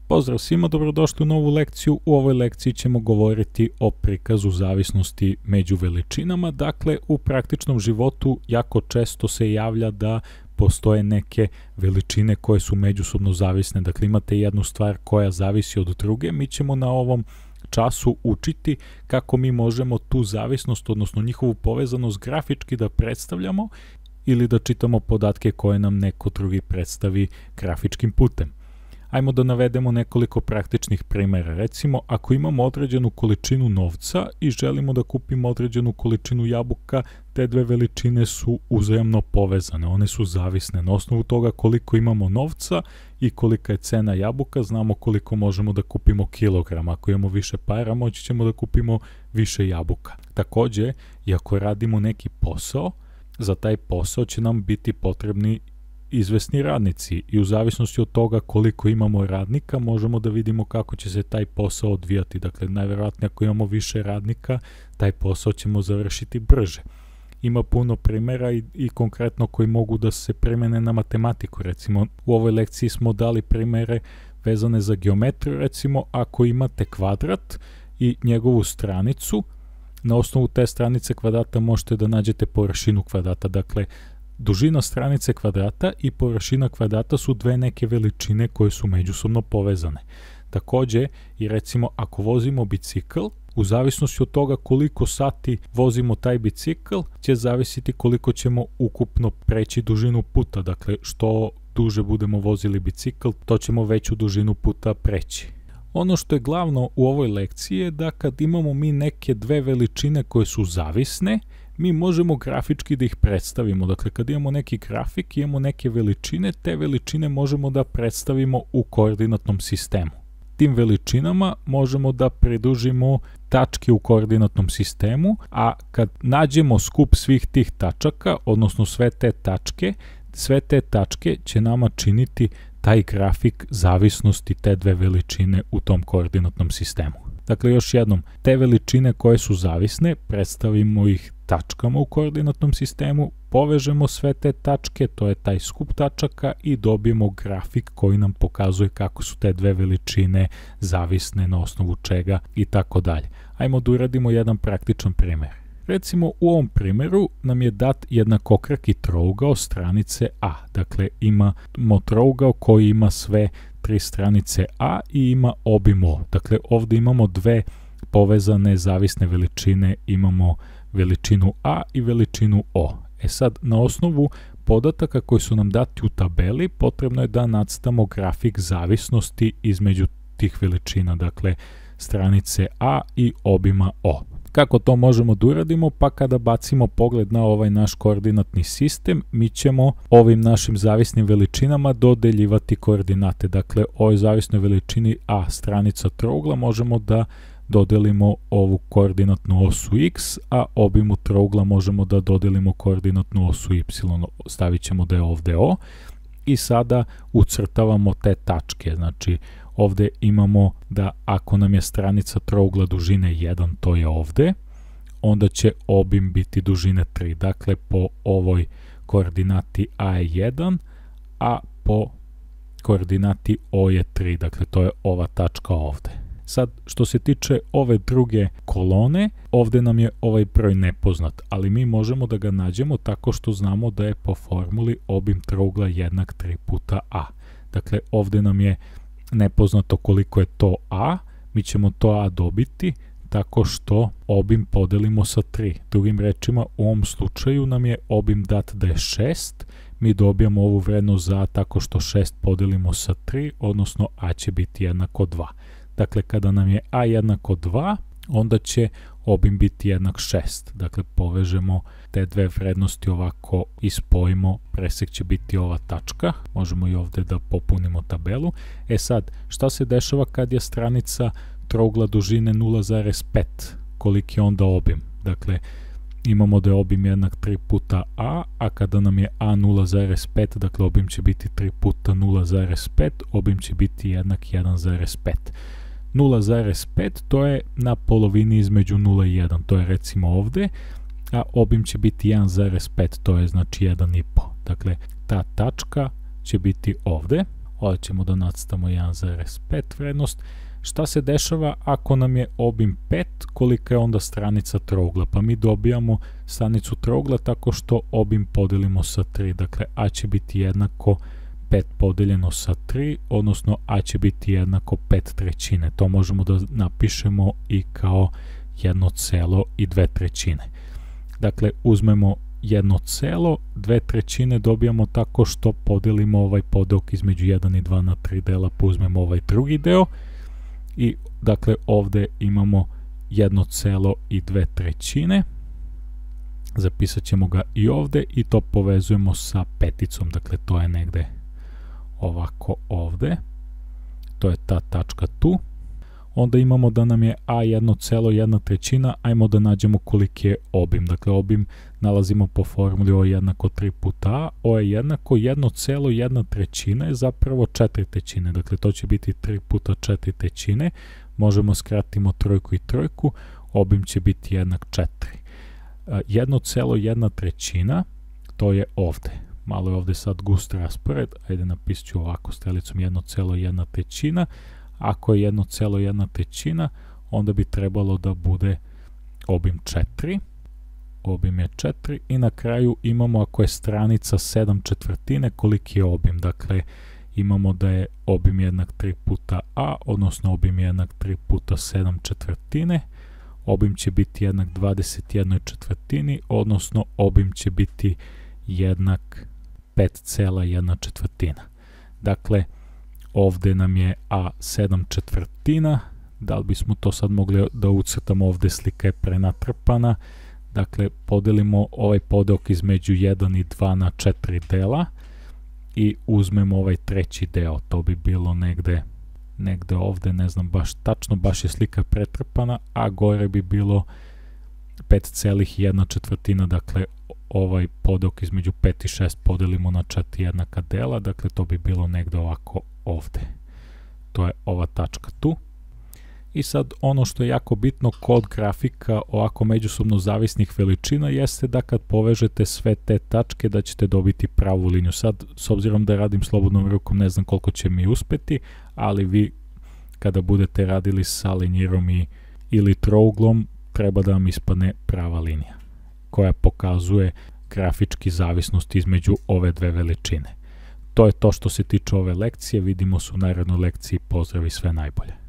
Pozdrav svima, dobrodošli u novu lekciju. U ovoj lekciji ćemo govoriti o prikazu zavisnosti među veličinama. Dakle, u praktičnom životu jako često se javlja da postoje neke veličine koje su međusobno zavisne. Dakle, imate jednu stvar koja zavisi od druge. Mi ćemo na ovom času učiti kako mi možemo tu zavisnost, odnosno njihovu povezanost grafički da predstavljamo ili da čitamo podatke koje nam neko drugi predstavi grafičkim putem. Ajmo da navedemo nekoliko praktičnih primjera. Recimo, ako imamo određenu količinu novca i želimo da kupimo određenu količinu jabuka, te dve veličine su uzajamno povezane, one su zavisne. Na osnovu toga koliko imamo novca i kolika je cena jabuka, znamo koliko možemo da kupimo kilograma. Ako imamo više para, moći ćemo da kupimo više jabuka. Takođe, i ako radimo neki posao, za taj posao će nam biti potrebni izvesni radnici i u zavisnosti od toga koliko imamo radnika možemo da vidimo kako će se taj posao odvijati. Dakle, najverovatnije ako imamo više radnika, taj posao ćemo završiti brže. Ima puno primjera i konkretno koji mogu da se primene na matematiku. Recimo, u ovoj lekciji smo dali primjere vezane za geometriju. Recimo, ako imate kvadrat i njegovu stranicu, na osnovu te stranice kvadrata možete da nađete površinu kvadrata. Dakle, dužina stranice kvadrata i površina kvadrata su dve neke veličine koje su međusobno povezane. Takođe, i recimo ako vozimo bicikl, u zavisnosti od toga koliko sati vozimo taj bicikl, će zavisiti koliko ćemo ukupno preći dužinu puta. Dakle, što duže budemo vozili bicikl, to ćemo veću dužinu puta preći. Ono što je glavno u ovoj lekciji je da kad imamo mi neke dve veličine koje su zavisne, mi možemo grafički da ih predstavimo. Dakle, kad imamo neki grafik, imamo neke veličine, te veličine možemo da predstavimo u koordinatnom sistemu. Tim veličinama možemo da pridružimo tačke u koordinatnom sistemu, a kad nađemo skup svih tih tačaka, odnosno sve te tačke će nama činiti taj grafik zavisnosti te dve veličine u tom koordinatnom sistemu. Dakle, još jednom, te veličine koje su zavisne, predstavimo ih tačkama u koordinatnom sistemu, povežemo sve te tačke, to je taj skup tačaka i dobijemo grafik koji nam pokazuje kako su te dve veličine zavisne, na osnovu čega i tako dalje. Ajmo da uradimo jedan praktičan primjer. Recimo, u ovom primjeru nam je dat jednakokraki trougao stranice A. Dakle, imamo trougao koji ima sve tri stranice A i ima obim O. Dakle, ovde imamo dve povezane zavisne veličine, imamo veličinu A i veličinu O. Sad, na osnovu podataka koji su nam dati u tabeli, potrebno je da nacrtamo grafik zavisnosti između tih veličina, dakle, stranice A i obima O. Kako to možemo da uradimo? Pa kada bacimo pogled na ovaj naš koordinatni sistem, mi ćemo ovim našim zavisnim veličinama dodeljivati koordinate. Dakle, ovoj zavisnoj veličini A, stranica trougla, možemo da dodelimo ovu koordinatnu osu X, a obimu trougla možemo da dodelimo koordinatnu osu Y. Stavit ćemo da je ovde O. I sada ucrtavamo te tačke. Znači, ovde imamo da ako nam je stranica trougla dužine 1, to je ovde, onda će obim biti dužine 3. Dakle, po ovoj koordinati A je 1, a po koordinati O je 3. Dakle, to je ova tačka ovde. Sad, što se tiče ove druge kolone, ovde nam je ovaj broj nepoznat, ali mi možemo da ga nađemo tako što znamo da je po formuli obim trougla jednak 3 puta A. Dakle, ovde nam je nepoznato koliko je to A, mi ćemo to A dobiti tako što obim podelimo sa 3. Drugim rečima, u ovom slučaju nam je obim dat da je 6, mi dobijamo ovu vrednost za A tako što 6 podelimo sa 3, odnosno A će biti jednako 2. Dakle, kada nam je A jednako 2, onda će obim biti jednak 6. Dakle, povežemo te dve vrednosti ovako i spojimo, presek će biti ova tačka. Možemo i ovde da popunimo tabelu. Sad, šta se dešava kad je stranica trougla dužine 0,5? Koliki je onda obim? Dakle, imamo da je obim jednak 3 puta A, a kada nam je A 0,5, dakle obim će biti 3 puta 0,5, obim će biti jednak 1,5. 0,5 to je na polovini između 0 i 1, to je recimo ovde, a obim će biti 1,5, to je znači 1,5. Dakle, ta tačka će biti ovde. ovdje ćemo da nacrtamo 1,5 vrednost. Šta se dešava ako nam je obim 5, kolika je onda stranica trougla? Pa mi dobijamo stranicu trougla tako što obim podelimo sa 3, dakle a će biti jednako 5 podeljeno sa 3, odnosno a će biti jednako 5/3. To možemo da napišemo i kao 1,2. Dakle, uzmemo 1, 2/3 dobijamo tako što podelimo ovaj podelok između 1 i 2 na 3 dela, pa uzmemo ovaj drugi deo i dakle ovde imamo 1,2. Zapisat ćemo ga i ovde i to povezujemo sa peticom, dakle to je negde ovako ovde, to je ta tačka tu. Onda imamo da nam je a 1,1, ajmo da nađemo koliki je obim. Dakle, obim nalazimo po formuli o jednako 3 puta a, o je jednako 1,1 je zapravo 4/3. Dakle, to će biti 3 puta 4/3. Možemo skratimo trojku i trojku, obim će biti jednak 4. 1,1 to je ovde. Malo je ovde sad gust raspored, ajde napisat ću ovako strelicom 1,1. Ako je 1,1, onda bi trebalo da bude obim 4. Obim je 4 i na kraju imamo ako je stranica 7/4, koliki je obim. Dakle, imamo da je obim jednak 3 puta a, odnosno obim je jednak 3 puta 7/4. Obim će biti jednak 21/4, odnosno obim će biti jednak 5,1. Dakle, ovde nam je a 7/4, da li bismo to sad mogli da ucrtamo, ovde slika je prenatrpana, dakle podelimo ovaj podelok između 1 i 2 na 4 dela i uzmemo ovaj treći deo, to bi bilo negde ovde, ne znam baš tačno, baš je slika pretrpana, a gore bi bilo 5,1, dakle ovaj podelok između 5 i 6 podelimo na 4 jednaka dela, dakle to bi bilo negde ovako ovde. To je ova tačka tu. I sad ono što je jako bitno kod grafika ovako međusobno zavisnih veličina jeste da kad povežete sve te tačke da ćete dobiti pravu liniju. Sad, s obzirom da radim slobodnom rukom, ne znam koliko će mi uspeti, ali vi kada budete radili sa linjirom ili trouglom, treba da vam ispadne prava linija koja pokazuje grafički zavisnost između ove dve veličine. To je to što se tiče ove lekcije, vidimo se u narednoj lekciji, pozdrav i sve najbolje.